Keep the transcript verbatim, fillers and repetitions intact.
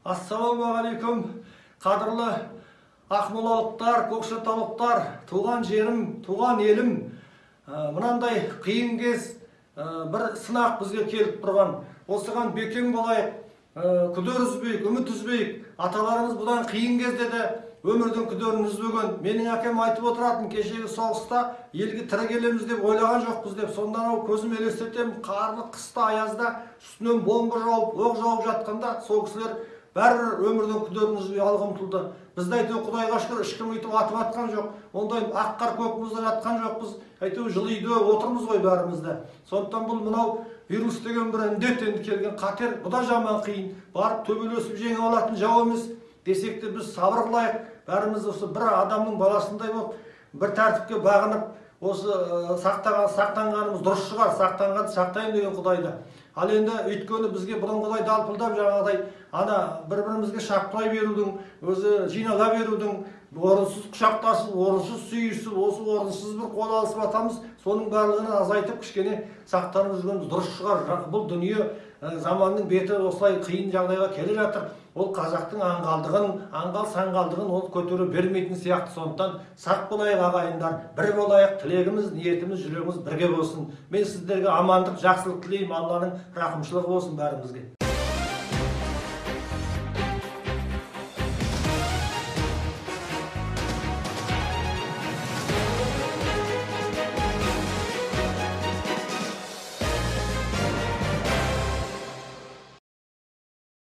Ассалаумағалейкум, қадірлі ақмолалықтар, көкшетаулықтар, туған жерім, туған елім. Мынандай қиын кез бір сынақ бізге келіп тұрған. Осыған бекем болайық, күдер үзбейік, үміт үзбейік. Аталарымыз бұдан қиын кезде де өмірдің күдерін үзбеген. Менің әкем айтып отыратын, кешегі соғыста елге тірі келеміз деп ойлаған жоқпыз деп. Сондан ау көзім елестетем, қарлы қыста, аязда үстінен бомба жауып, оқ жауып жатқанда сол кісілер бәрібір өмірдің күдерін үзбей алға ұмтылды. Бізді әйтеуір Құдайға шүкір ешкім өйтіп атып атқан жоқ. Ондай ақ қар көкімізде жатқан жоқпыз. Әйтеуір жылы үйде отырмыз ғой бәрімізде. Сондықтан бұл мынау вирус деген бір індет енді келген қатер, бұл да жаман қиын. Барып төбелесіп жеңіп алатын жау емес. Десек те біз сабыр қылайық. Бәріміз осы бір адамның баласындай болып, бір тәртіпке бағынып, осы сақтанғанымыз дұрыс шығар, сақтанғанды сақтайын деген Құдайда. Ал енді өйткені бізге бұрынғыдай далпылдап жаңағыдай ана бір-бірімізге шапқылай берудің, өзі жинала берудің, орынсыз құшақтасып, орынсыз сүйісіп, осы орынсыз бір қол алысып атамыз, соның барлығын азайтып кішкене сақтанып жүргеніміз дұрыс шығар. Бұл дүние заманның беті осылай қиын жағдайға келе жатыр. Ол қазақтың аңғалдығын, аңғал-саңғалдығын ол көтере бермейтін сияқты. Сондықтан сақ болайық ағайындар, бір болайық, тілегіміз, ниетіміз, жүрегіміз бірге болсын. Мен сіздерге амандық, жақсылық тілеймін. Алланың рақымшылығы болсын бәрімізге.